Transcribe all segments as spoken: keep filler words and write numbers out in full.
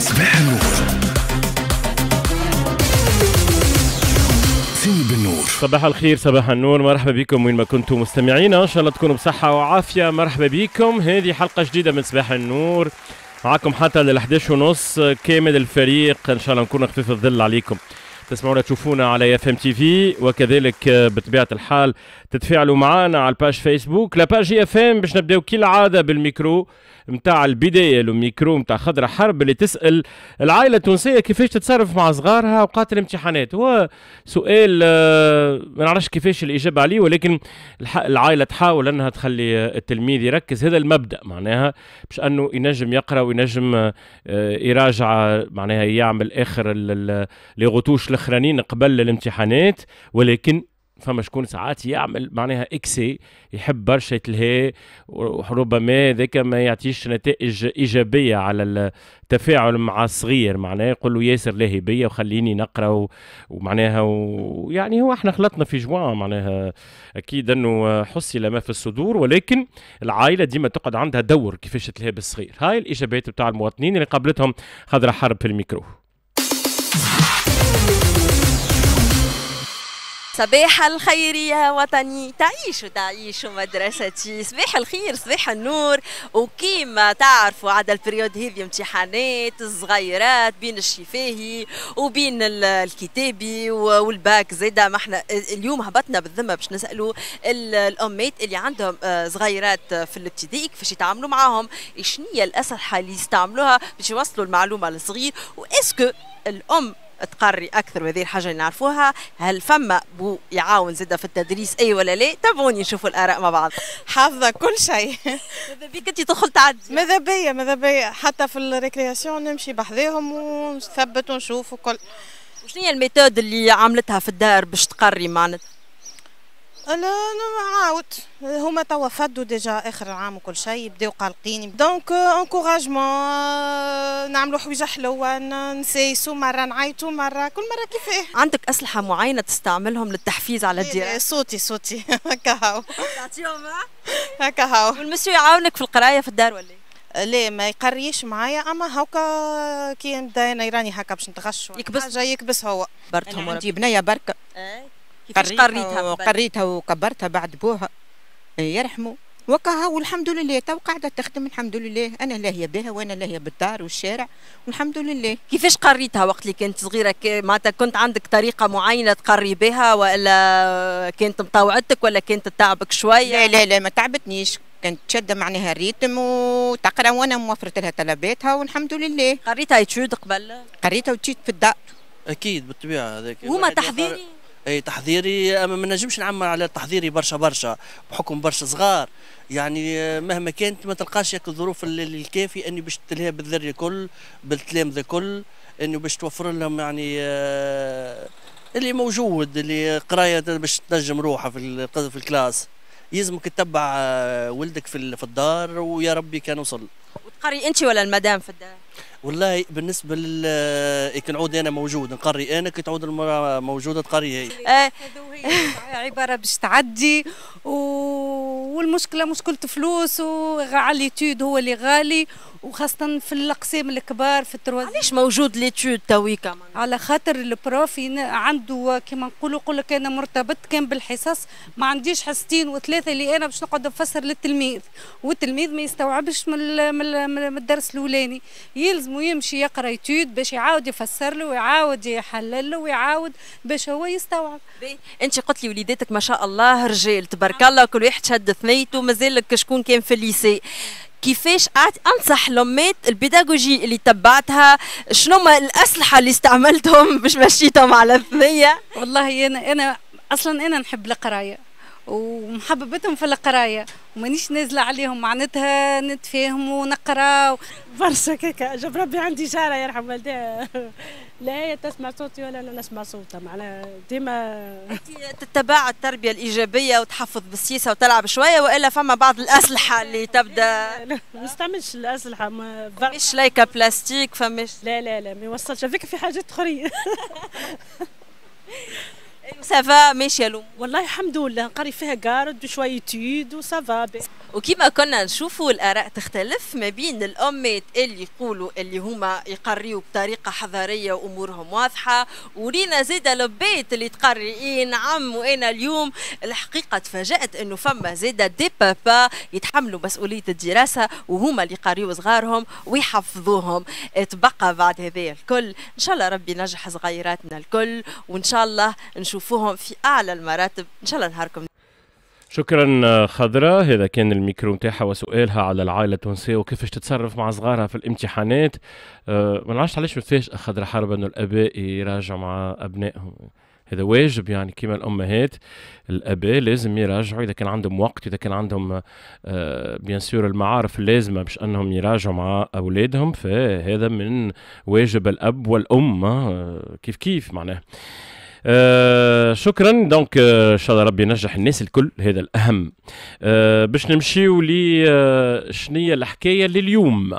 صباح النور سيني بالنور. صباح الخير، صباح النور، مرحبا بكم وين ما كنتم مستمعينا، ان شاء الله تكونوا بصحة وعافية. مرحبا بكم، هذه حلقة جديدة من صباح النور معكم حتى لل إحداش ونص كامل الفريق، ان شاء الله نكون خفيف الظل عليكم. تسمعونا تشوفونا على اف ام تي في، وكذلك بطبيعة الحال تتفاعلوا معنا على ال page فيسبوك la page IFM. باش نبداو كالعادة بالميكرو نتاع البداية، الميكرو نتاع خضرة حرب اللي تسال العائلة التونسية كيفاش تتصرف مع صغارها اوقات الامتحانات. هو سؤال ما نعرفش كيفاش الاجابة عليه، ولكن العائلة تحاول انها تخلي التلميذ يركز. هذا المبدا معناها باش انه ينجم يقرا وينجم يراجع، معناها يعمل اخر les retouches الاخرانيين قبل الامتحانات. ولكن فما شكون ساعات يعمل معناها excès، يحب برشا يتلهي، وربما ذاك ما يعطيش نتائج ايجابية على التفاعل مع الصغير. معناها يقول له ياسر لاهي بيا وخليني نقرا ومعناها ويعني هو احنا خلطنا في جوان، معناها اكيد انه حصل ما في الصدور، ولكن العائلة ديما تقعد عندها دور كيفاش تلهي بالصغير. هاي الاجابات بتاع المواطنين اللي قابلتهم خضرة حرب في الميكرو. صباح الخير يا وطني، تعيش تعيش مدرستي. صباح الخير، صباح النور. وكيما تعرفوا عاد ال période هذه امتحانات الصغيرات بين الشفاهي وبين الكتابي والباك زاده. ما احنا اليوم هبطنا بالذمه باش نسالوا الامات اللي عندهم صغيرات في الابتدائي كيفاش يتعاملوا معاهم، شنو هي الاسلحة اللي يستعملوها باش يوصلوا المعلومة للصغير، و est-ce que الام تقري اكثر، وهذه الحاجة اللي نعرفوها. هل فما بو يعاون زاده في التدريس اي ولا لا؟ تابعوني نشوفوا الاراء مع بعض. حافظه كل شيء. ماذا بيك انت تدخل تعدي؟ ماذا بيا ماذا بيا حتى في ال récréation نمشي بحذاهم ونثبت ونشوف وكل. وشنو هي ال méthode اللي عملتها في الدار باش تقري معناتها؟ انا نعاود هما توا فدوا déjà اخر العام وكل شيء، بداو قلقين، donc encouragement، نعملوا حويجه حلوة، نسايسوا مرة، نعيطوا مرة، كل مرة كيفاه. عندك اسلحة معينة تستعملهم للتحفيز على الدراسة؟ صوتي صوتي هكا هاو تعطيهم هكا هاو. والمسيو يعاونك في القراية في الدار ولا؟ لا ما يقريش معايا، اما هاكا كي نبدا انا يراني هكا باش نتغش يكبس، حاجة يكبس هو. برتهم عندي بنيه بركة. كيفاش قريتها؟ قريتها وكبرتها بعد بوها يرحمه وكها، والحمد لله تو قاعدة تخدم الحمد لله. انا لاهية بها وانا لاهية بالدار والشارع والحمد لله. كيفاش قريتها وقت اللي كانت صغيرة؟ معناتها كنت عندك طريقه معينة تقري بها ولا كانت مطوعتك ولا كانت تعبك شوية؟ لا لا لا ما تعبتنيش، كانت شاده معناها ال rythme وتقرا وانا موفرت لها طلباتها والحمد لله. قريتها études قبل؟ قريتها études في الدار. اكيد بالطبيعة هذاك هما تحضيري؟ اي تحضيري، اما ما نجمش نعمر على تحضيري برشا برشا بحكم برشا صغار، يعني مهما كانت ما تلقاش الظروف الكافيه اني باش تلهي بالذري الكل بالتلامذه الكل، انه باش توفر لهم يعني اللي موجود اللي قرايه باش تنجم روحها في في ال classe. يلزمك تتبع ولدك في في الدار ويا ربي كان وصل. وتقري انت ولا المدام في الدار؟ والله بالنسبة لل كي نعود انا موجود نقري انا، كي تعود المراة موجودة تقري هي. عبارة باش تعدي، والمشكلة مشكلة فلوس، وعلى l'étude هو اللي غالي، وخاصة في الاقسام الكبار في ال troisième. علاش موجود l'étude تويكا؟ على خاطر ال prof عنده كيما نقولوا يقول لك انا مرتبط كان بالحصص، ما عنديش حصتين وثلاثة اللي انا باش نقعد نفسر للتلميذ، والتلميذ ما يستوعبش من من الدرس الاولاني، يلزم يمشي يقرا étude باش يعاود يفسر له ويعاود يحلل له ويعاود باش هو يستوعب. انت قلت لي وليداتك ما شاء الله رجال تبارك الله، كل واحد شد ثنيته، مازال لك شكون كان في ال lycée. كيفاش انصح الامات البيداغوجي اللي تبعتها، شنو ما الاسلحة اللي استعملتهم باش مشيتهم على الثنية؟ والله انا انا اصلا انا نحب القراية ومحببتهم في القراية ومانيش نازله عليهم، معناتها نتفاهم ونقرا برشا كيكا. جاب ربي عندي جاره يرحم والديها، لا هي تسمع صوتي ولا انا نسمع صوتها، معناها ديما. انت تتبع التربية الايجابية وتحفظ بالسياسة وتلعب شوية، والا فما بعض الاسلحة اللي تبدا؟ لا ما نستعملش الاسلحة، ما فماش لايكه بلاستيك، فماش؟ لا لا لا ما يوصلش هذيك في حاجات اخرين. ça va ماشية الامور؟ والله الحمد لله، نقري فيها garde وشوية études و ça va. وكما كنا نشوفوا الاراء تختلف ما بين الامات اللي يقولوا اللي هما يقريوا بطريقة حضارية وامورهم واضحة، ورينا زيد البيت اللي تقري إيه نعم. وانا اليوم الحقيقة تفاجات انه فما زيد des papas يتحملوا مسؤولية الدراسة وهما اللي يقريوا صغارهم ويحفظوهم. تبقى بعد هذا الكل ان شاء الله ربي ينجح صغيراتنا الكل، وان شاء الله نشوفوهم في اعلى المراتب. ان شاء الله نهاركم. شكرا خضراء، هذا كان الميكرو نتاعها وسؤالها على العائلة التونسية وكيفاش تتصرف مع صغارها في الامتحانات. أه ما نعرفش علاش متفاجئه خضراء حرب انه الاباء يراجعوا مع ابنائهم، هذا واجب يعني كما الامهات الاباء لازم يراجعوا اذا كان عندهم وقت، اذا كان عندهم آه bien sûr المعارف اللازمة باش انهم يراجعوا مع اولادهم، فهذا من واجب الاب والام آه كيف كيف معناه. آه شكرا donc آه ان شاء الله ربي ينجح الناس الكل، هذا الاهم. آه باش نمشيو ل آه شنية الحكاية لليوم.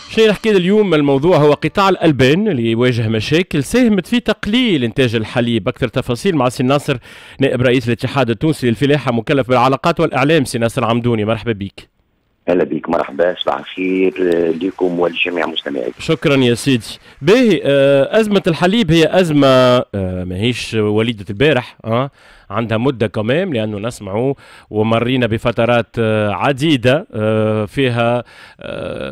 شنو الحكاية اليوم؟ الموضوع هو قطاع الالبان اللي يواجه مشاكل ساهمت في تقليل انتاج الحليب. اكثر تفاصيل مع سي ناصر نائب رئيس الاتحاد التونسي للفلاحه مكلف بالعلاقات والاعلام. سي ناصر عمدوني مرحبا بك. اهلا بك، مرحبا، صباح الخير لكم ولجميع مستمعيكم. شكرا يا سيدي. باهي، أزمة الحليب هي أزمة ماهيش وليدة البارح، أه؟ عندها مدة كمان، لأنه نسمعوا ومرينا بفترات عديدة فيها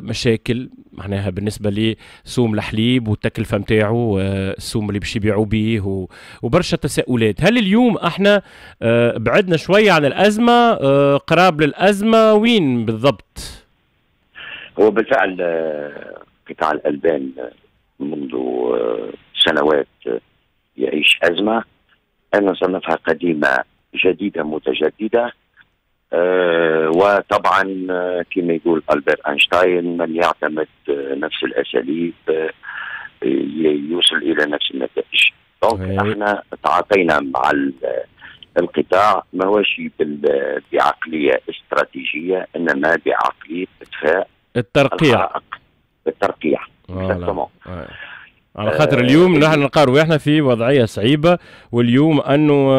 مشاكل معناها بالنسبة لسوم الحليب والتكلفة نتاعو، السوم اللي باش يبيعوا به، وبرشا تساؤلات. هل اليوم احنا بعدنا شوية عن الأزمة، قراب للأزمة، وين بالضبط؟ هو بالفعل قطاع الألبان منذ سنوات يعيش أزمة، أنا صنفها قديمة جديدة متجددة. أه وطبعا كما يقول ألبرت أينشتاين، من يعتمد نفس الأساليب يوصل إلى نفس النتائج. donc احنا تعاطينا مع القطاع ما هوش بعقلية استراتيجية، إنما بعقلية إطفاء الترقيع. الترقيع على خاطر اليوم نحن نلقاو احنا في وضعية صعيبة، واليوم انه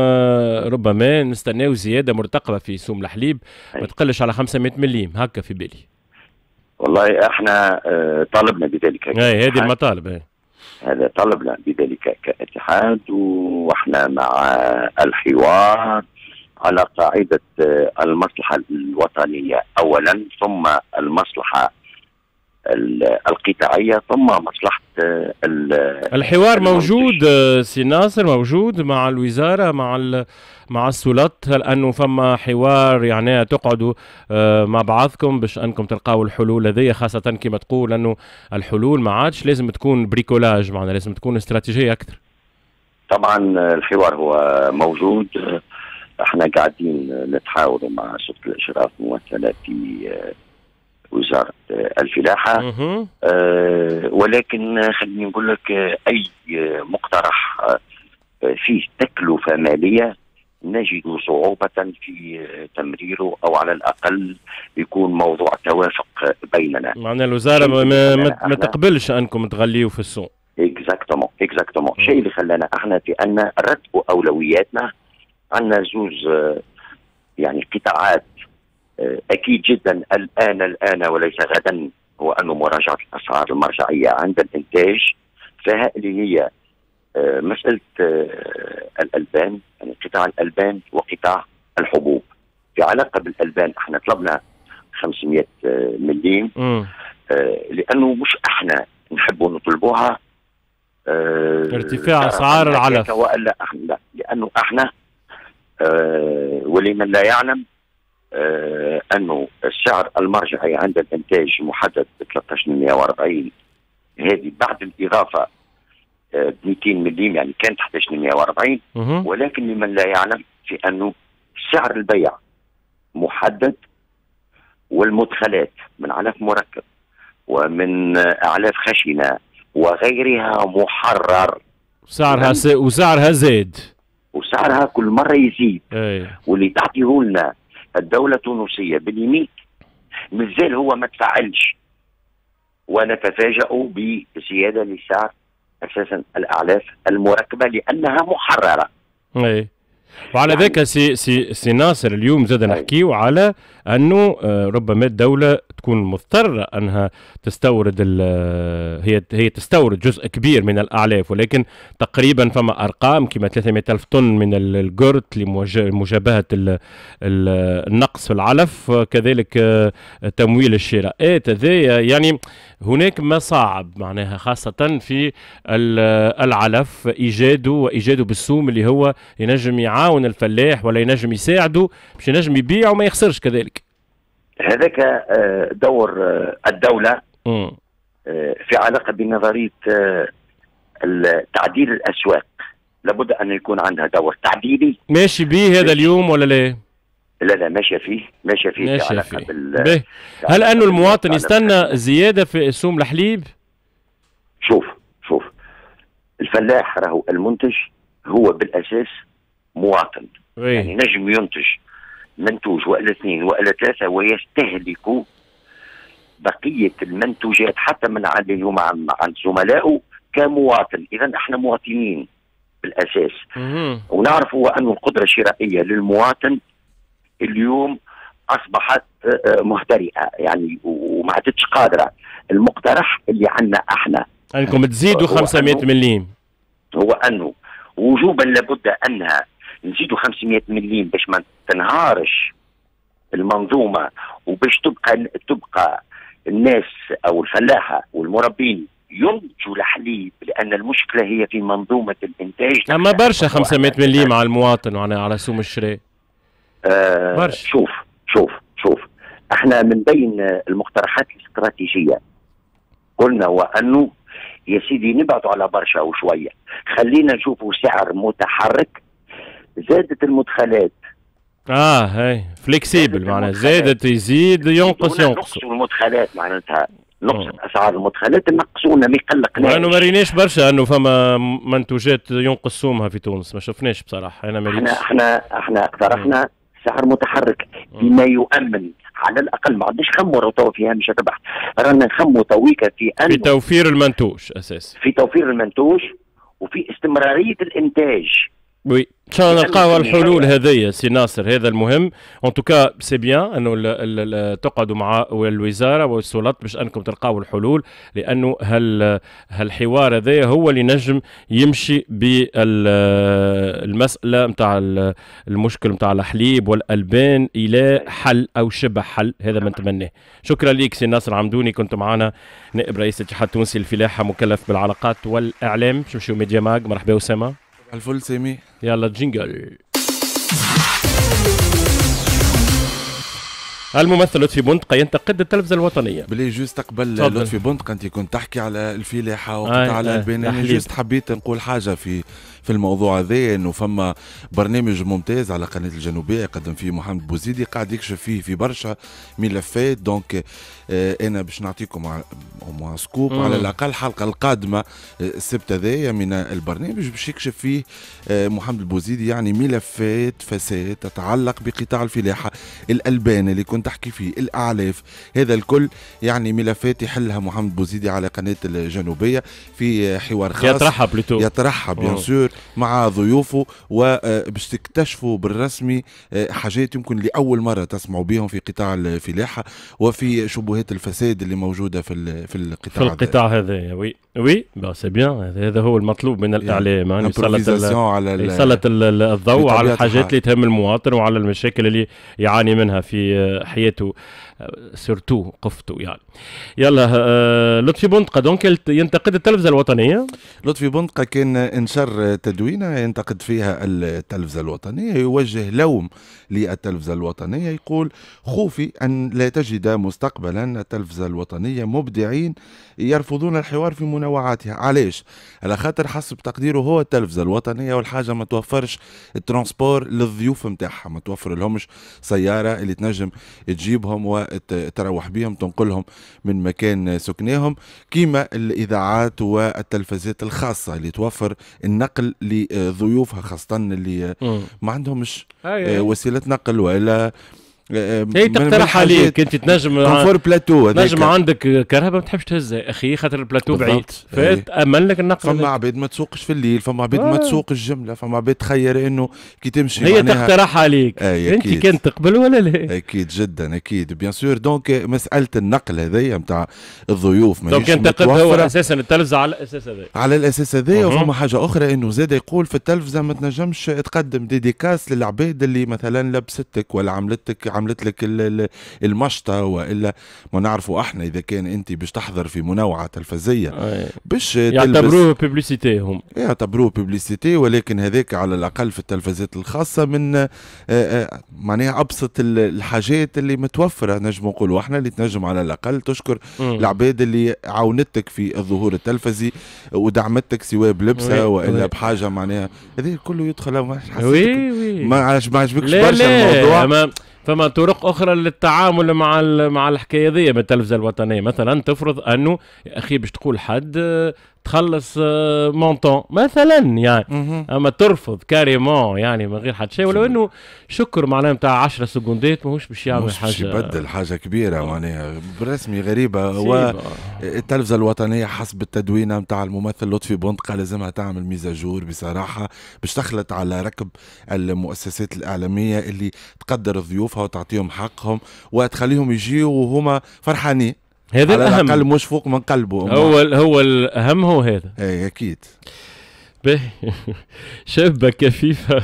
ربما نستناو زيادة مرتقبه في سوم الحليب ما تقلش على خمسمائة مليم هكا في بالي. والله احنا طالبنا بذلك. اي هذه المطالب. اي هذا طلبنا بذلك كاتحاد، واحنا مع الحوار على قاعدة المصلحة الوطنية اولا، ثم المصلحة القطاعية، ثم مصلحة الحوار. موجود سي ناصر، موجود مع الوزارة، مع مع السلطات، هل أنه فما حوار يعني تقعدوا مع بعضكم باش أنكم تلقاو الحلول هذه، خاصة كما تقول أنه الحلول ما عادش لازم تكون bricolage، معنا لازم تكون استراتيجية أكثر. طبعا الحوار هو موجود، احنا قاعدين نتحاوروا مع سلطة الإشراف ممثلة في وزارة الفلاحة، أه ولكن خليني نقول لك أي مقترح فيه تكلفة مالية نجد صعوبة في تمريره، أو على الأقل يكون موضوع توافق بيننا. معنى الوزارة ما, ما, ما تقبلش أنكم تغليوا في السوق. exactement exactement، الشيء اللي خلانا احنا في أن نرتبوا أولوياتنا. عندنا زوز يعني قطاعات أكيد جدا الآن الآن وليس غدا، هو أنه مراجعة الأسعار المرجعية عند الإنتاج، فيها اللي هي مسألة الألبان، يعني قطاع الألبان وقطاع الحبوب. في علاقة بالألبان احنا طلبنا خمسمائة مليم، لأنه مش احنا نحبوا نطلبوها ارتفاع أسعار العلف، ولا احنا، لأنه احنا ولمن لا يعلم آه أنه السعر المرجعي عند الإنتاج محدد ب ثلاثة عشر مئة وأربعين، هذه بعد الإضافة آه ب مئتين مليم، يعني كانت أحد عشر مئة وأربعين. ولكن لمن لا يعلم في أنه سعر البيع محدد، والمدخلات من علف مركب ومن أعلاف خشنة وغيرها محرر، سعرها س... وسعرها زاد، وسعرها كل مرة يزيد. أي. واللي تعطيه لنا الدولة التونسية باليمين مازال هو ما تفعلش، ونتفاجأ بزيادة لسعر اساسا الاعلاف المركبة لانها محرره. اي وعلى يعني ذاك سي سي سي ناصر اليوم زاد نحكيو على انه ربما الدولة تكون مضطرة انها تستورد هي هي تستورد جزء كبير من الاعلاف، ولكن تقريبا فما ارقام كما ثلاثمائة ألف طن من الجرت لمجابهه النقص في العلف، كذلك تمويل الشراءات هذايا، يعني هناك مصاعب معناها خاصة في العلف ايجاده وايجاده بالسوم اللي هو ينجم يعاون الفلاح ولا ينجم يساعده باش ينجم يبيع وما يخسرش كذلك. هذاك دور الدولة في علاقة بنظرية تعديل الأسواق، لابد أن يكون عندها دور تعديلي. ماشي بيه هذا اليوم ولا لا؟ لا لا ماشية فيه، ماشية فيه ماشية في علاقة فيه. بال هل أنه المواطن يستنى زيادة في سوم الحليب؟ شوف شوف الفلاح راهو المنتج هو بالأساس مواطن. وي. يعني نجم ينتج منتوج والا اثنين والا ثلاثة ويستهلك بقية المنتوجات حتى من اللي هما عند زملائه كمواطن. اذا احنا مواطنين بالاساس. ونعرف هو ان القدرة الشرائية للمواطن اليوم اصبحت مهترئه يعني وما عادتش قادرة. المقترح اللي عندنا احنا انكم تزيدوا خمسمائة مليم، هو انه وجوبا لابد انها نزيدوا خمسمائة مليم باش ما تنهارش المنظومة وباش تبقى تبقى الناس او الفلاحة والمربين ينتجوا الحليب، لان المشكلة هي في منظومة الانتاج. اما برشا خمسمائة مليم على المواطن وعلى على سوم الشراء. آه برشا. شوف شوف شوف احنا من بين المقترحات الاستراتيجية قلنا وانه يا سيدي نبعدوا على برشا وشوية، خلينا نشوفوا سعر متحرك. زادت المدخلات اه هاي flexible معناها زادت يزيد ينقص ينقص المدخلات معناتها نقصت اسعار المدخلات نقصونا ما يقلقناش. لانه ما ريناش برشا انه فما منتوجات ينقص سومها في تونس، ما شفناش بصراحة. انا ما ريتش. احنا احنا احنا اقترحنا سعر متحرك بما يؤمن على الاقل، ما عندناش خموا تو فيها مش ربح، رانا نخموا تويكا في أنه في توفير المنتوج اساسا، في توفير المنتوج وفي استمرارية الانتاج. oui ان شاء الله نلقاو الحلول هذيا سي ناصر، هذا المهم. en tout cas c'est bien انه تقعدوا مع الوزارة والسلطات باش انكم تلقاو الحلول، لانه هال هالحوار هذايا هو اللي نجم يمشي بالمسالة نتاع المشكل نتاع الحليب والالبان الى حل او شبه حل، هذا ما نتمناه. شكرا لك سي ناصر عمدوني، كنت معنا نائب رئيس الاتحاد التونسي للفلاحه مكلف بالعلاقات والاعلام. باش نمشيو ميديا ماغ. مرحبا اسامة. الفل سامي، يلا jingle. الممثل لطفي بندقة ينتقد التلفزة الوطنية. بلي juste قبل لطفي بندقة انت كنت تحكي على الفلاحة وقطاع الألبان، انا juste حبيت نقول حاجة في في الموضوع هذا، انه فما برنامج ممتاز على قناة الجنوبية يقدم فيه محمد بوزيدي، قاعد يكشف فيه في برشا ملفات. donc آه انا باش نعطيكم au moins scoop على الاقل الحلقة القادمة السبت هذايا من البرنامج باش يكشف فيه آه محمد البوزيدي يعني ملفات فساد تتعلق بقطاع الفلاحة، الألبان اللي كنت تحكي فيه، الأعلاف، هذا الكل يعني ملفات يحلها محمد بوزيدي على قناة الجنوبية في حوار خاص يطرحها plutôt يطرحها bien sûr مع ضيوفه، وباش تكتشفوا بالرسمي حاجات يمكن لأول مرة تسمعوا بهم في قطاع الفلاحة وفي شبهات الفساد اللي موجودة في في القطاع في القطاع هذا. oui oui bah c'est bien، هذا هو المطلوب من الإعلام، يعني يسلط الضوء على الحاجات اللي تهم المواطن وعلى المشاكل اللي يعاني منها في حياته surtout قفته يعني. يلا آه لطفي بندقة donc ينتقد التلفزة الوطنية. لطفي بندقة كان انشر تدوينة ينتقد فيها التلفزة الوطنية، يوجه لوم للتلفزة الوطنية، يقول خوفي أن لا تجد مستقبلا التلفزة الوطنية مبدعين يرفضون الحوار في منوعاتها. علاش؟ على خاطر حسب تقديره هو التلفزة الوطنية والحاجة ما توفرش ال transport للضيوف نتاعها، ما توفر لهمش سيارة اللي تنجم تجيبهم وتروح بيهم تنقلهم من مكان سكناهم، كيما الإذاعات والتلفزات الخاصة اللي توفر النقل لضيوفها، خاصة اللي ما عندهمش وسيلة نقل ولا هي تقترح عليك انت تنجم confort plateau، تنجم عندك كرهبه ما تحبش تهزها اخي خاطر البلاتو بعيد، فتامن لك النقل. فما عباد ما تسوقش في الليل، فما عباد ما تسوقش الجملة، فما عباد تخير انه كي تمشي هي تقترح عليك انت كان تقبل ولا لا. اكيد جدا اكيد bien sûr. donc مسالة النقل هذيا نتاع الضيوف ماهيش متوفرة. هو اساسا التلفزة على الاساس هذا، على الاساس هذايا. وفما حاجة اخرى انه زاد يقول في التلفزة ما تنجمش تقدم dédicace للعباد اللي مثلا لبستك ولا عملتك عملت لك المشطه، والا ما نعرفوا احنا اذا كان انت باش تحضر في منوعة تلفزيه باش يعتبروه publicité، هم يعتبروه publicité، ولكن هذاك على الاقل في التلفزات الخاصة من معناها ابسط الحاجات اللي متوفرة نجم نقولوا احنا، اللي تنجم على الاقل تشكر العباد اللي عاونتك في الظهور التلفزي ودعمتك سواء بلبسه والا بحاجة، معناها هذا كله يدخل. ما ما عجبكش برشا الموضوع. فما طرق اخرى للتعامل مع مع الحكاية ذي من التلفزة الوطنية، مثلا تفرض انه يا اخي باش تقول حد تخلص montant مثلا يعني، اما ترفض carrément يعني من غير حد شيء، ولو انه شكر معناها نتاع عشرة سكوندات ماهوش باش يعمل حاجة، باش يبدل حاجة كبيرة معناها بالرسمي غريبة. والتلفزه الوطنية حسب التدوينه نتاع الممثل لطفي بندقه لازمها تعمل mise à jour بصراحة باش تخلط على ركب المؤسسات الاعلامية اللي تقدر ضيوفها وتعطيهم حقهم وتخليهم يجيوا وهما فرحانين. هذا على الأهم، الأقل مش فوق من قلبه. هو هو الأهم هو هذا. اي أكيد. باهي. شابة كفيفة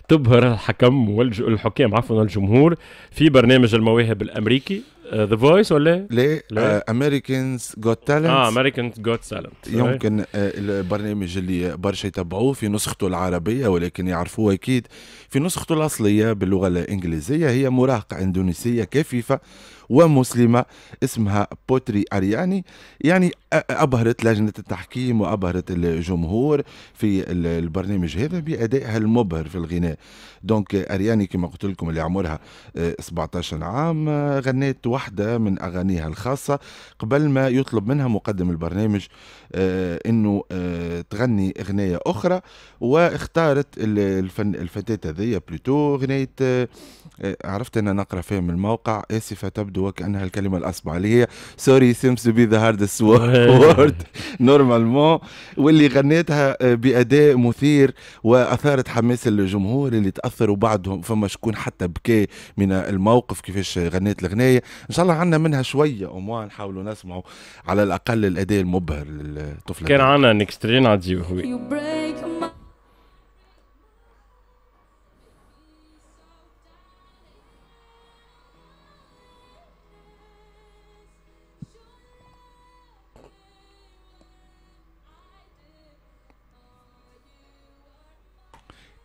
تبهر الحكم والحكام عفوا الجمهور في برنامج المواهب الأمريكي The Voice ولا؟ لا، America's Got Talent. اه America's Got Talent، يمكن البرنامج اللي برشا يتبعوه في نسخته العربية ولكن يعرفوه أكيد في نسخته الأصلية باللغة الإنجليزية. هي مراهقة إندونيسية كفيفة ومسلمة اسمها بوتري أرياني، يعني أبهرت لجنة التحكيم وأبهرت الجمهور في البرنامج هذا بأدائها المبهر في الغناء. donc أرياني كما قلت لكم اللي عمرها سبعة عشر عام غنت واحدة من أغانيها الخاصة قبل ما يطلب منها مقدم البرنامج أنه تغني أغنية أخرى، واختارت الفن الفتاة هذيا plutôt أغنية عرفت أنا نقرأ فيها من الموقع، آسفة تبدو وكأنها الكلمة الأصعب اللي هي sorry seems to be the hardest word normalement، واللي غنيتها بأداء مثير وأثارت حماس الجمهور اللي تأثروا بعضهم، فما شكون حتى بكى من الموقف كيفاش غنيت الغناية. إن شاء الله عندنا منها شوية au moins نحاولوا نسمعوا على الأقل الأداء المبهر للطفلة. كان عندنا extrait نعديوه.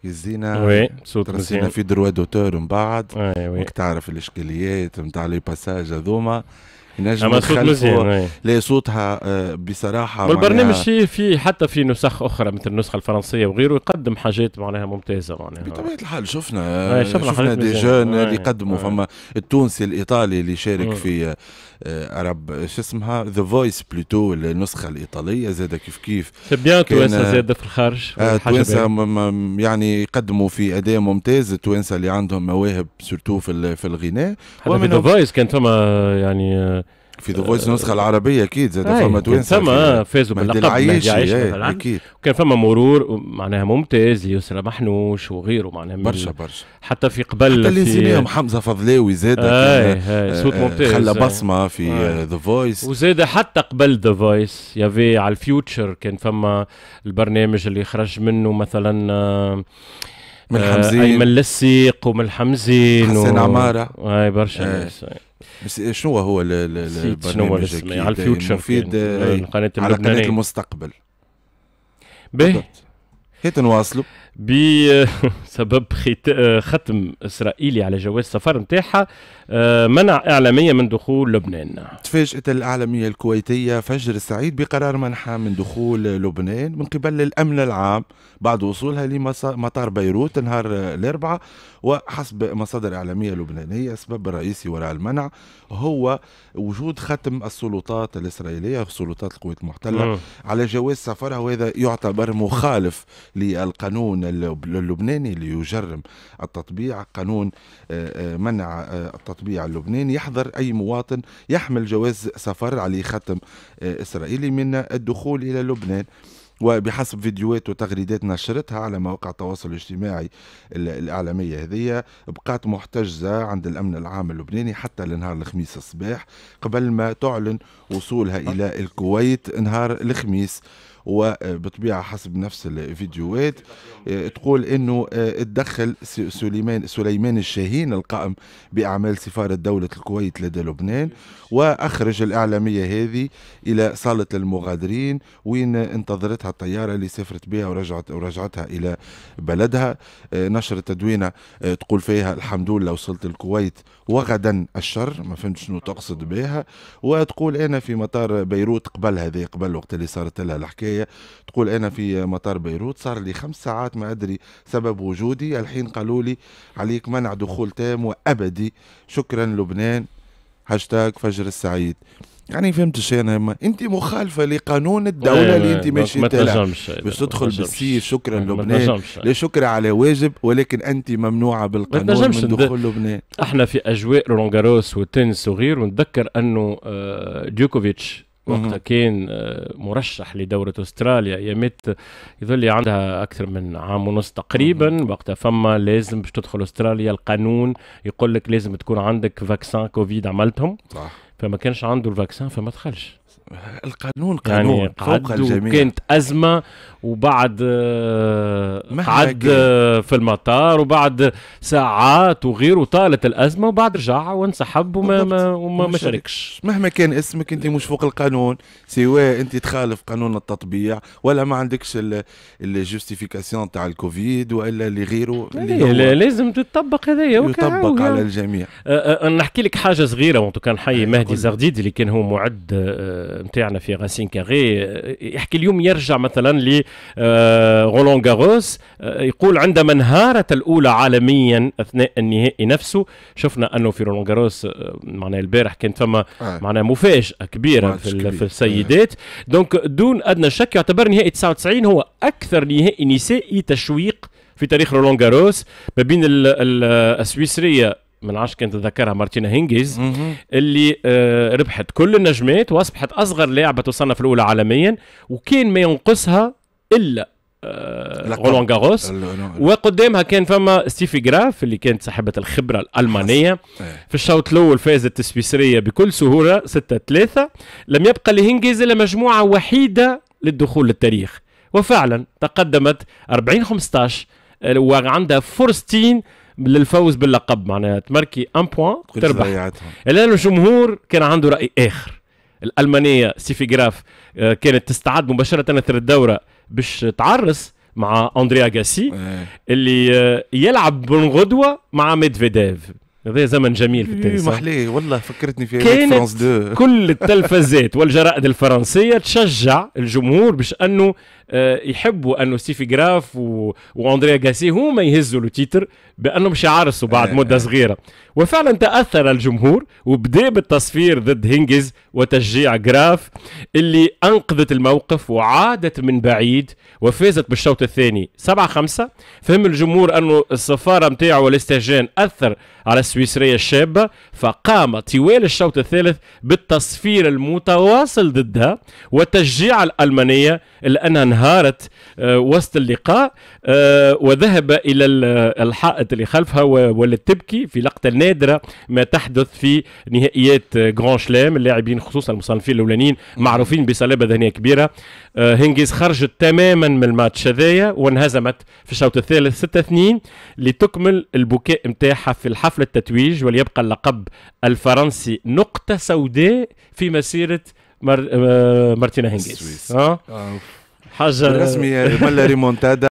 يزينا ترسينا في droits d'auteur من بعد، وك تعرف الاشكاليات نتاع les passages هذوما ينجم يخلفوا. لا صوتها بصراحة. والبرنامج في في حتى في نسخ اخرى مثل النسخة الفرنسية وغيره يقدم حاجات معناها ممتازة معناها. بطبيعة الحال شفنا شفنا, شفنا des jeunes اللي قدموا، فما التونسي الايطالي اللي شارك مم. في عرب شو اسمها The Voice plutôt النسخة الايطالية زاد كيف كيف. c'est bien توانسة زاد في الخارج، توانسة يعني يقدموا في اداء ممتاز، التوانسة اللي عندهم مواهب surtout في في الغناء. في The Voice كان فما يعني في The Voice النسخة العربية اكيد زاد فما توانسة فما فازوا باللقب العياشي مثلا اكيد، وكان فما مرور معناها ممتاز يسرى محنوش وغيره معناها برشا برشا حتى في قبل حتى اللي نسيناهم حمزة فضلاوي زاد كان صوت ممتاز خلى بصمة في The Voice، وزاد حتى قبل The Voice y avait على ال Future كان فما البرنامج اللي خرج منه مثلا من الحمزين ايمن للسيق ومن الحمزين حسين عمارة اي برشا ناس. بس شنو هو البرنامج على ال Future مفيد القناة على قناة المستقبل. باهي هيت نواصلوا بسبب ختم إسرائيلي على جواز السفر نتاعها منع إعلامية من دخول لبنان. تفاجأت الإعلامية الكويتية فجر السعيد بقرار منحها من دخول لبنان من قبل الأمن العام بعد وصولها لمطار بيروت نهار الأربعاء، وحسب مصادر إعلامية لبنانية السبب الرئيسي وراء المنع هو وجود ختم السلطات الإسرائيلية سلطات القوات المحتلة م. على جواز سفرها، وهذا يعتبر مخالف للقانون القانون اللبناني اللي يجرم التطبيع، قانون منع التطبيع اللبناني، يحظر أي مواطن يحمل جواز سفر عليه ختم إسرائيلي من الدخول إلى لبنان. وبحسب فيديوهات وتغريدات نشرتها على مواقع التواصل الاجتماعي الإعلامية هذه، بقات محتجزة عند الأمن العام اللبناني حتى لنهار الخميس الصباح قبل ما تعلن وصولها إلى الكويت نهار الخميس. وبطبيعة حسب نفس الفيديوهات تقول انه اتدخل سليمان سليمان الشاهين القائم باعمال سفارة دولة الكويت لدى لبنان، واخرج الاعلامية هذه الى صالة المغادرين وين انتظرتها الطيارة اللي سافرت بها ورجعت ورجعتها الى بلدها. نشرت تدوينة تقول فيها الحمد لله وصلت الكويت وغدا الشر، ما فهمت شنو تقصد بها. وتقول انا في مطار بيروت قبل هذه، قبل وقت اللي صارت لها الحكاية، تقول أنا في مطار بيروت صار لي خمس ساعات ما أدري سبب وجودي، الحين قالوا لي عليك منع دخول تام وأبدي، شكرا لبنان، هاشتاج فجر السعيد. يعني فهمت الشيء أنا، أنت مخالفة لقانون الدولة اللي أنت ماشي تلعب باش تدخل بالسيف، شكرا لبنان، لا شكرا على واجب، ولكن أنت ممنوعة بالقانون من دخول لبنان. احنا في أجواء رولان غاروس والتنس وغيره، ونتذكر أنه ديوكوفيتش وقتها كان مرشح لدورة أستراليا، يمت يظل عندها أكثر من عام ونص تقريبا، وقتها فما لازم باش تدخل أستراليا القانون يقول لك لازم تكون عندك vaccin كوفيد عملتهم، صح. فما كانش عنده ال vaccin فما دخلش. القانون قانون يعني فوق الجميع. كانت أزمة، وبعد قعد في المطار وبعد ساعات وغيره طالت الأزمة، وبعد رجع وانسحب وما ما وما ما شاركش. مهما كان اسمك أنت مش فوق القانون، سواء أنت تخالف قانون التطبيع ولا ما عندكش ال justification تاع الكوفيد ولا اللي غيره، اللي لازم تطبق هذايا يطبق على الجميع. أه نحكي لك حاجة صغيرة، وانتو كان حي مهدي زغديد اللي كان هو معد نتاعنا في Racine Carrée، يحكي اليوم يرجع مثلا ل رولان غاروس، يقول عندما انهارت الاولى عالميا اثناء النهائي نفسه، شفنا انه في رولان غاروس معناها البارح كانت فما معناها مفاجاة كبيرة في, في السيدات، donc دون ادنى شك يعتبر نهائي تسعة وتسعين هو اكثر نهائي نسائي تشويق في تاريخ رولان غاروس، ما بين السويسريه من عشر كانت تذكرها مارتينا هينجيز اللي آه ربحت كل النجمات واصبحت اصغر لاعبه تصنف الاولى عالميا، وكان ما ينقصها الا آه رولان غاروس، وقدامها كان فما ستيفي جراف اللي كانت صاحبه الخبرة الالمانية. في الشوط الاول فازت السويسريه بكل سهولة ستة ثلاثة، لم يبقى لهينجيز الا مجموعة وحيده للدخول للتاريخ، وفعلا تقدمت أربعين خمسطاش وعندها فرصتين للفوز باللقب، معناها تماركي un point تربح. لأن الجمهور كان عنده رأي آخر. الألمانية ستيفي جراف كانت تستعد مباشرة اثر الدورة باش تعرس مع أندريا غاسي اللي يلعب من غدوة مع ميدفيديف. هذا زمن جميل في التنس. محليه والله، فكرتني في فرانس اثنين. كل التلفزات والجرائد الفرنسية تشجع الجمهور باش انه يحبوا انه ستيفي جراف و... واندريا غاسي هما يهزوا le titre بانهم باش يعرسوا بعد مده صغيرة، وفعلا تاثر الجمهور وبدا بالتصفير ضد هينجز وتشجيع جراف اللي انقذت الموقف وعادت من بعيد وفازت بالشوط الثاني سبعة خمسة. فهم الجمهور انه الصفاره نتاعو والاستهجان اثر على السويسريه الشابة، فقام طوال الشوط الثالث بالتصفير المتواصل ضدها وتشجيع الالمانية الا انها انهارت وسط اللقاء وذهب الى الحائط اللي خلفها ولا تبكي في لقطة نادرة ما تحدث في نهائيات Grand Chelem. اللاعبين خصوصا المصنفين الاولانيين معروفين بصلابه ذهنية كبيرة. هينجيز خرجت تماما من الماتش هذايا وانهزمت في الشوط الثالث ستة اثنين لتكمل البكاء نتاعها في الحفل التتويج، وليبقى اللقب الفرنسي نقطة سوداء في مسيره مار... مارتينا هينجيز. اه حاجة رسمي ملا ريمونتادا،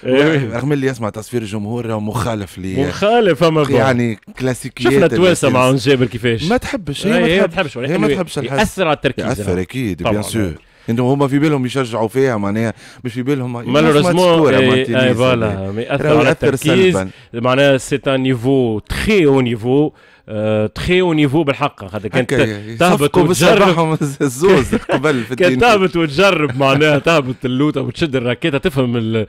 رغم اللي يسمع تصفير الجمهور مخالف لي مخالف أما يعني كلاسيكيات. شفنا التوانسة مع جابر كيفاش ما تحبش، هي ما تحبش، هي ما تحبش الحس، ياثر على التركيز، ياثر اكيد bien sûr. انتم هما في بالهم يشجعوا فيها معناها مش في بالهم malheureusement اي voilà ياثر على التركيز، معناها c'est un niveau très haut niveau. très haut niveau بالحق، خاطر كانت تهبط وتجرب الزوز قبل في كانت تهبط وتجرب معناها تهبط اللوطه وتشد الراكيته تفهم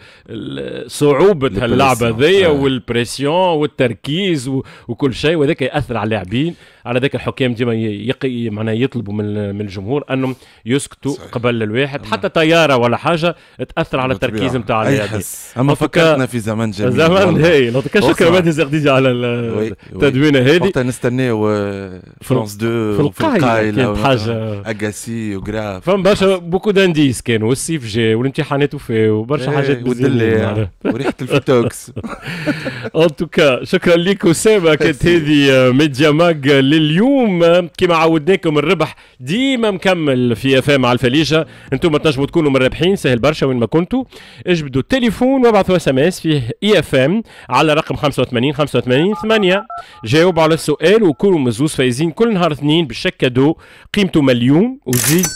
صعوبة هاللعبة هذيا وال pression والتركيز وكل شيء، وهذاك ياثر على اللاعبين. على ذاك الحكام ديما يقي معناها يطلبوا من من الجمهور انهم يسكتوا قبل الواحد، حتى طيارة ولا حاجة تاثر على التركيز نتاع اللاعبين. اما فكرتنا في زمن جميل، زمن هايل. شكرا مهدي زغديدي على التدوينه هذه. وقتها نستناو فرانس اثنين في القايله، كانت حاجة اجاسي وجراف، فما برشا beaucoup d'indices كانوا، والصيف جا والامتحانات وفاو وبرشا حاجات والدلع وريحه الفيتوكس. en tout cas شكرا لك اسامة. كانت هذه ميديا ماج لليوم. كما عودناكم الربح ديما مكمل في اف ام على الفليجه، انتم تنجموا تكونوا من الرابحين، سهل برشا وين ما كنتوا، اجبدوا التليفون وابعثوا SMS فيه IFM على رقم خمسة وثمانين خمسة وثمانين ثمانية، جاوبوا على السؤال وكونوا مزوز فايزين كل نهار اثنين بال chèque cadeau قيمته مليون، وزيد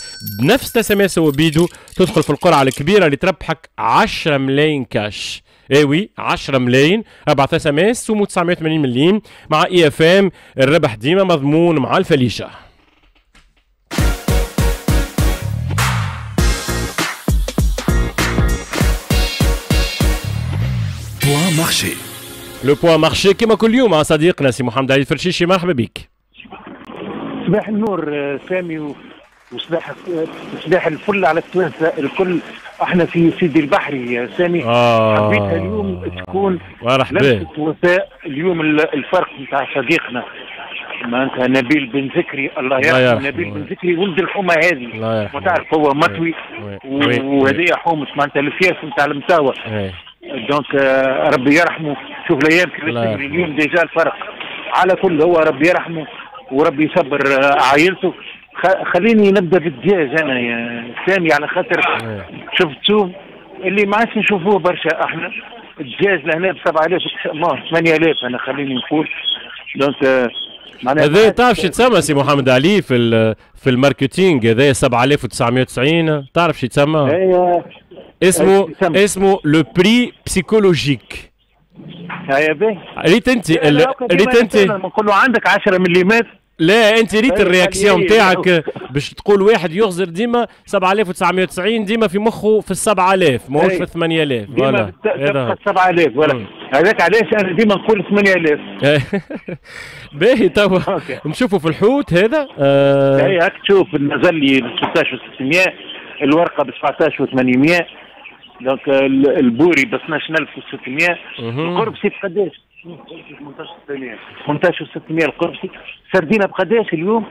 بنفس SMS وبيدو تدخل في القرعة الكبيرة اللي تربحك عشرة ملايين كاش. اي oui عشرة ملايين، ابعث SMS سومو تسعمية وثمانين مليم مع IFM، الربح ديما مضمون مع الفليشه. point marché، le point marché كما كل يوم مع صديقنا سي محمد علي الفرشيشي. مرحبا بك. صباح النور سامي، وصباح صباح الفل على التوانسة الكل. احنا في سيدي البحري يا سامي. آه. حبيتها اليوم تكون لمسه وفاء. اليوم الفرق نتاع صديقنا معناتها نبيل بن ذكري، الله يرحمه. نبيل بن ذكري ولد الحومه هذه، وتعرف هو مطوي وهذه حومه معناتها الفياس نتاع المساوى، donc ربي يرحمه. شوف الايام كيفاش تجري، اليوم déjà الفرق. على كل هو ربي يرحمه وربي يصبر عائلته. خليني نبدا بالدجاج انا يا سامي، على خاطر شفتو اللي ما عادش نشوفوه برشا احنا. الدجاج لهنا ب سبعة آلاف ثمانية آلاف انا خليني نقول. donc معناها هذا تعرف شو تسمى سي محمد علي في في ال marketing؟ هذا سبعة آلاف وتسعمية وتسعين تعرف شو تسمى؟ اسمه اسمه le prix psychologique. يا باهي ريت انت ريت انت نقول له عندك عشرة مليمات. لا انت ريت ال réaction تاعك باش تقول واحد يغزر ديما سبعة آلاف وتسعمية وتسعين ديما في مخه في السبعة آلاف ماهوش في ثمانية آلاف. ديما تبقى سبعة آلاف ولا هذاك علاش انا ديما نقول ثمانية آلاف. باهي توا نشوفوا في الحوت هذا. اي هاك تشوف النزلي ب ستة عشر وستمية، الورقة ب سبعة عشر وثمانمية، donc البوري ب اثناش ألف وستمية، القربسي بقداش؟ ثمنطاش وستمية القربسي. سردينه بقداش اليوم؟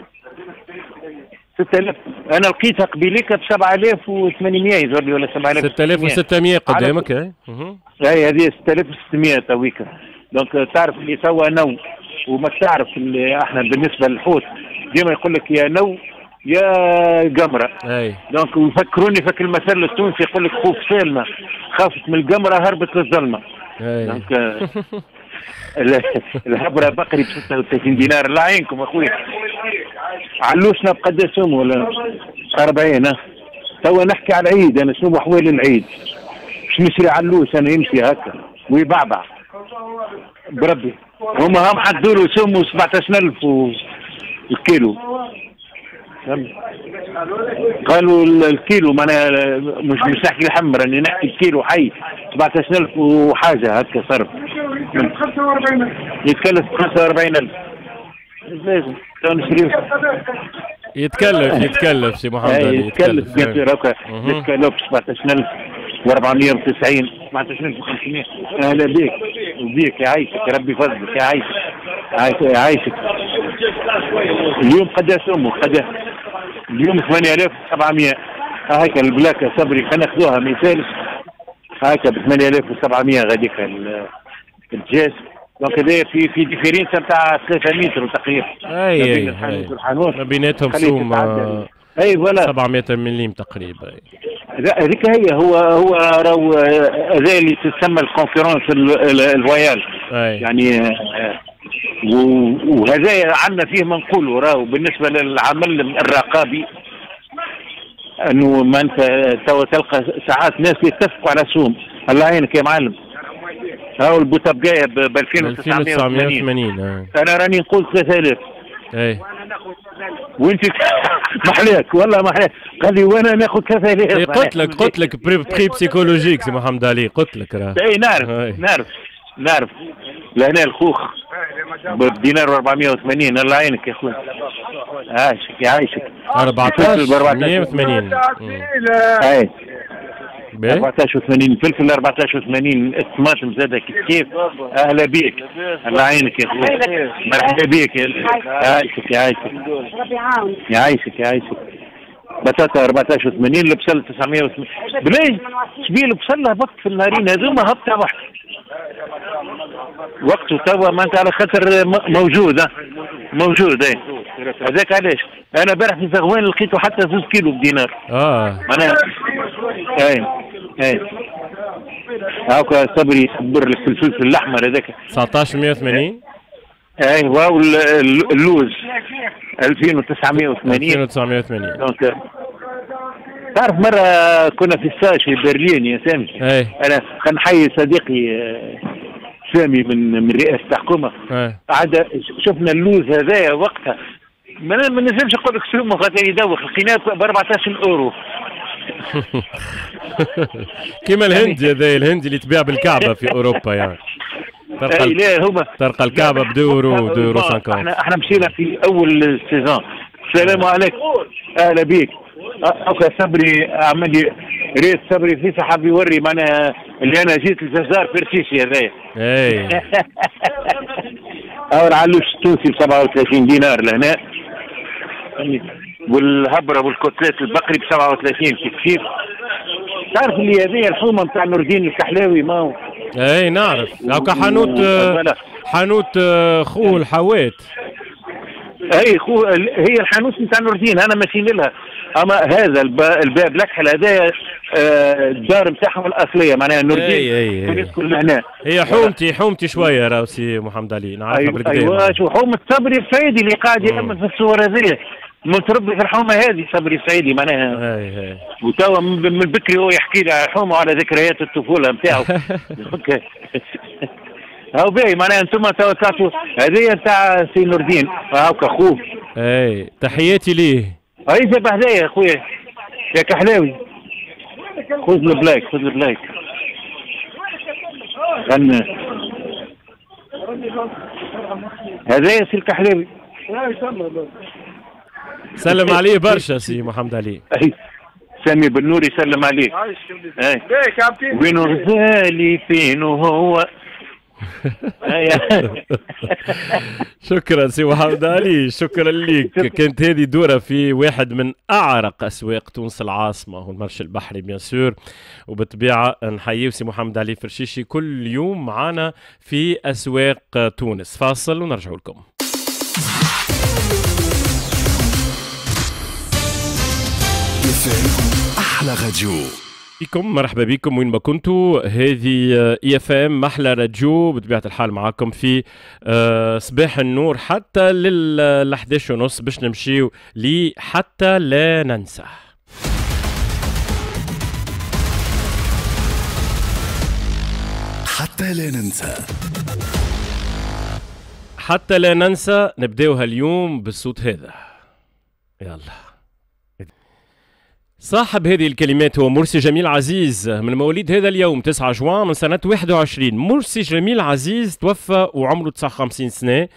ستة آلاف. انا لقيتها قبيليك ب سبعة آلاف وثمانمية يظهر لي، ولا سبعة آلاف ستة آلاف وستمية قدامك. اي اي هذه ستة آلاف وستمية تويكا. donc تعرف اللي توا نو، وما تعرف اللي احنا بالنسبة للحوت ديما يقول لك يا نو يا قمره. اي donc يفكروني فك المثل التونسي يقول لك خوف سالمه خافت من القمره هربت للظلمه. donc الهبره بقري ب ستة وثلاثين دينار. الله يعينكم اخويا. علوشنا بقداش ولا أربعين؟ توا نحكي على العيد انا، شنو احوال العيد؟ باش نشري علوش انا يمشي هكا ويبعبع بربي. هما هم حدوا له سمو سبعطاش ألف الكيلو. قالوا الكيلو معناها مش مش نحكي الحم، راني نحكي الكيلو حي سبعطاش ألف وحاجه هكا صرف. يتكلف خمسة وأربعين ألف. لازم نشريو. يتكلف يتكلف سي محمد علي يتكلف bien sûr. هكا يتكلف سبعطاش ألف وأربعمية وتسعين سبعطاش ألف وخمسمية. اهلا بك وبيك، يعيشك ربي يفضلك، يعيشك يعيشك. اليوم قداش امه؟ قداش اليوم؟ ثمانية آلاف وسبعمية. هاكا البلاكه صبري خلينا ناخذوها ما يسالش. هاكا ب ثمانية آلاف وسبعمية غاديك الدجاج. donc هذايا في في différence نتاع ثلاثة متر تقريبا. اي اي ما بيناتهم سوم اي voilà سبعمية مليم تقريبا. هذيك هي هو هو راهو هذا اللي تسمى ال concurrence loyale. يعني وهذا عندنا فيه ما نقولوا راهو بالنسبة للعمل الرقابي، انه ما انت توا تلقى ساعات ناس يتفقوا على سوم. الله يعينك يا معلم. هاو البوتابقايه ب ألفين وتسعمية وثمانين. انا راني نقول ثلاثة آلاف. اي وانت محلاك والله محلاك. قال لي وانا ناخذ ثلاثة آلاف. قلت لك قلت لك prix psychologique سي محمد علي، قلت لك راه. اي نعرف نعرف نعرف. لهنا الخوخ بدينار وأربعمية وثمانين. الله يعينك يا خويا. عايشك يعيشك. أربعطاش مية وثمانين. اي أربعطاش وثمانين الفلفل، أربعطاش وثمانين الطماطم زادة كيف كيف. اهلا بيك، الله يعينك يا خويا، مرحبا بيك. يعيشك يعيشك ربي يعاونك. يعيشك يعيشك. بطاطا أربعطاش وثمانين، البصل تسعمية وثمانين. بلاش شبيه البصل هبط في النهارين هذوما هبطه واحدة وقته توا، ما انت على خاطر موجود موجود. اي هذاك علاش انا امبارح في زغوان لقيته حتى زوج كيلو بدينار. اه معناها اي اي هاكا صبري يصبر لك الفلفل الاحمر هذاك تسعطاش مية وثمانين. اي واو اللوز ألفين وتسعمية وثمانين. ألفين وتسعمية وثمانين. donc تعرف مرة كنا في stage في برلين يا سامي. اي انا كنحيي صديقي سامي من من رئاسة الحكومة. عاد شفنا اللوز هذايا وقتها ما نجمش نقول لك سومه خاطر يدوخ، لقيناه ب أربعطاش اورو. كيما الهندي هذا، الهندي اللي تبيع بالكعبة في اوروبا يعني. تلقى لا هما تلقى الكعبة ب اثنين اورو اثنين اورو خمسين. احنا احنا مشينا في اول saison. السلام عليكم، اهلا بيك. اوكا صبري عمل لي ريت صبري في حاب يوري معناها اللي انا جيت الجزار فرشيشي هذايا. اي او العلوش التونسي ب سبعة وثلاثين دينار لهنا، والهبره وال côtelette البقري ب سبعة وثلاثين كيف كيف. تعرف اللي هذه الحومه نتاع نور الدين الكحلاوي ما هو؟ اي نعرف، هاكا حانوت حانوت خو الحوات. اي خو هي الحانوت نتاع نور الدين، انا ماشيين لها. اما هذا الباب الاكحل هذايا الدار نتاعهم الاصلية معناها نور الدين يسكن لهنا. هي حومتي حومتي شوية راهو سي محمد علي، نعرفها بالكدا. ايوا شو حومه صبري السعيدي اللي قاعد يأمن في الصور هذه، متربي في الحومه هذه صبري السعيدي معناها. اي اي وتوا من بكري هو يحكي لي على الحومه وعلى ذكريات الطفولة نتاعو. هاو باهي معناها انتم توا طلعتوا هذه نتاع سي نور الدين هاكا خوه. اي تحياتي ليه. هاي جاب هدايا يا خويا يا كحلاوي. خذ ال plaque خذ ال plaque. غنى هذايا سي الكحلاوي. سلم عليه برشا سي محمد علي. سامي بالنور يسلم عليك. وينو غزالي فينو هو. شكرا سي محمد علي، شكرا لك. كانت هذه دورة في واحد من أعرق أسواق تونس العاصمة هو المرش البحري bien sûr. وبالطبيعة نحيي سي محمد علي فرشيشي كل يوم معنا في أسواق تونس. فاصل ونرجع لكم. أحلى راديو بكم، مرحبا بكم وين ما كنتوا. هذه IFM احلى راديو بطبيعة الحال معاكم في صباح النور حتى لل إحداش ونص باش نمشيو لحتى لا ننسى. حتى لا ننسى، حتى لا ننسى نبداوها اليوم بالصوت هذا. يلا. صاحب هذه الكلمات هو مرسي جميل عزيز من مواليد هذا اليوم تسعة جوان من سنة واحد وعشرين. مرسي جميل عزيز توفى وعمره تسعة وخمسين سنة،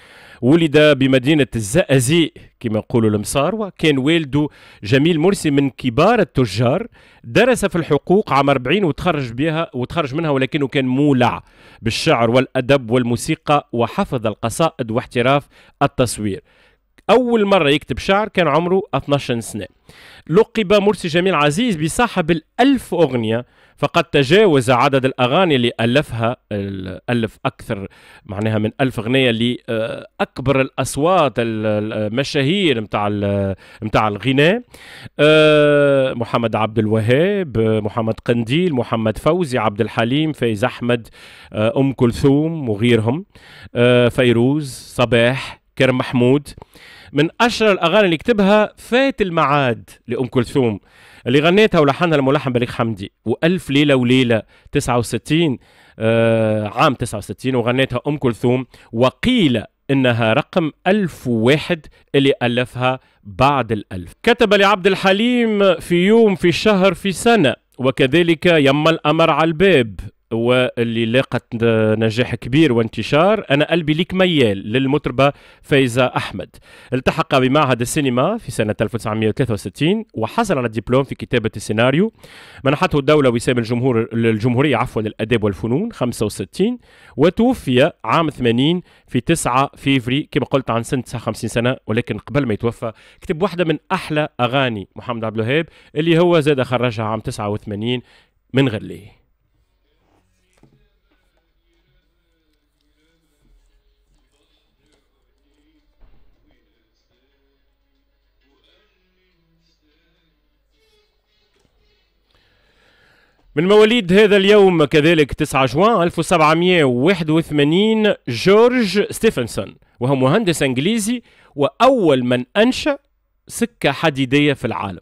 ولد بمدينة الزقازيق كما يقولوا المصاروة. كان والده جميل مرسي من كبار التجار، درس في الحقوق عام أربعين وتخرج بها وتخرج منها، ولكنه كان مولع بالشعر والأدب والموسيقى وحفظ القصائد واحتراف التصوير. أول مرة يكتب شعر كان عمره اثناش سنة. لقب مرسي جميل عزيز بصاحب الألف أغنية، فقد تجاوز عدد الأغاني اللي ألفها، ألف أكثر معناها من ألف أغنية لأكبر الأصوات المشاهير متاع متاع الغناء، محمد عبد الوهاب، محمد قنديل، محمد فوزي، عبد الحليم، فايز أحمد، أم كلثوم وغيرهم، فيروز، صباح، كرم محمود. من أشهر الأغاني اللي كتبها فات المعاد لأم كلثوم اللي غنيتها ولحنها الملحن بليغ حمدي، وألف ليلة وليلة تسعة وستين آه عام تسعة وستين وغنيتها أم كلثوم، وقيل إنها رقم ألف وواحد اللي ألفها بعد الألف. كتب لعبد الحليم في يوم في شهر في سنة، وكذلك يما الأمر على الباب واللي لاقت نجاح كبير وانتشار، أنا قلبي ليك ميال للمطربة فايزة أحمد. التحق بمعهد السينما في سنة ألف وتسعمائة وثلاثة وستين وحصل على الدبلوم في كتابة السيناريو. منحته الدولة وسام الجمهور الجمهورية عفوا للآداب والفنون خمسة وستين، وتوفي عام ثمانين في تسعة فيفري كما قلت عن سنة تسعة وخمسين سنة. ولكن قبل ما يتوفى كتب واحدة من أحلى أغاني محمد عبد الوهاب اللي هو زاد خرجها عام تسعة وثمانين من غير ليه. من مواليد هذا اليوم كذلك تسعة جوان ألف وسبعمائة وواحد وثمانين جورج ستيفنسون، وهو مهندس انجليزي واول من انشأ سكة حديدية في العالم.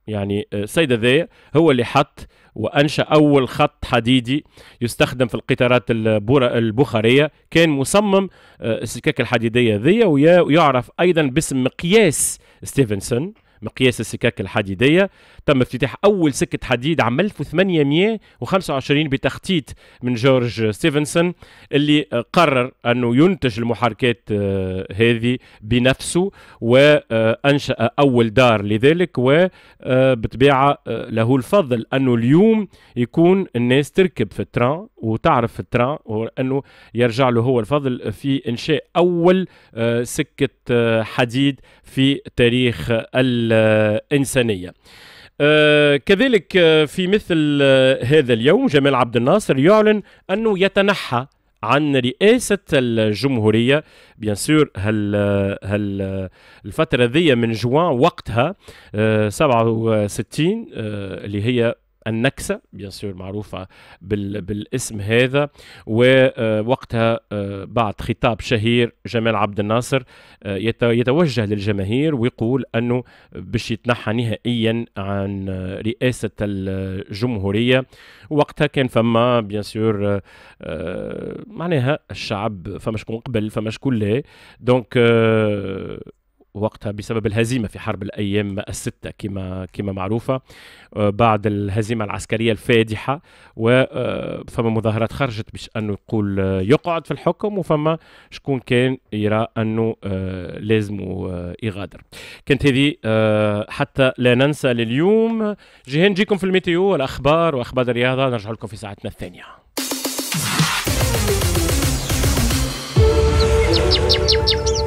يعني السيد ذا هو اللي حط وانشأ اول خط حديدي يستخدم في القطارات البخارية، كان مصمم السكك الحديدية ذي، ويعرف ايضا باسم مقياس ستيفنسون، مقياس السكك الحديدية. تم افتتاح أول سكة حديد عام ألف وثمانمائة وخمسة وعشرين بتخطيط من جورج ستيفنسون اللي قرر أنه ينتج المحركات هذه بنفسه، وأنشأ أول دار لذلك. وبطبيعة له الفضل أنه اليوم يكون الناس تركب في ال train وتعرف في ال train، وأنه يرجع له هو الفضل في إنشاء أول سكة حديد في تاريخ الإنسانية. آه كذلك في مثل هذا اليوم جمال عبد الناصر يعلن أنه يتنحى عن رئاسة الجمهورية. bien sûr هل هل الفترة ذي من جوان وقتها آه سبعة وستين آه اللي هي النكسة bien sûr معروفة بال بالاسم هذا. ووقتها بعد خطاب شهير جمال عبد الناصر يتوجه للجماهير ويقول أنه باش يتنحى نهائيا عن رئاسة الجمهورية. وقتها كان فما bien sûr معناها الشعب فما شكون قبل فما شكون لا، donc وقتها بسبب الهزيمة في حرب الأيام الستة كما كما معروفة، بعد الهزيمة العسكرية الفادحة، وفما مظاهرات خرجت باش أنه يقول يقعد في الحكم، وفما شكون كان يرى أنه لازم يغادر. كانت هذه حتى لا ننسى لليوم. جيهان نجيكم في ال météo والأخبار وأخبار الرياضة، نرجع لكم في ساعتنا الثانية.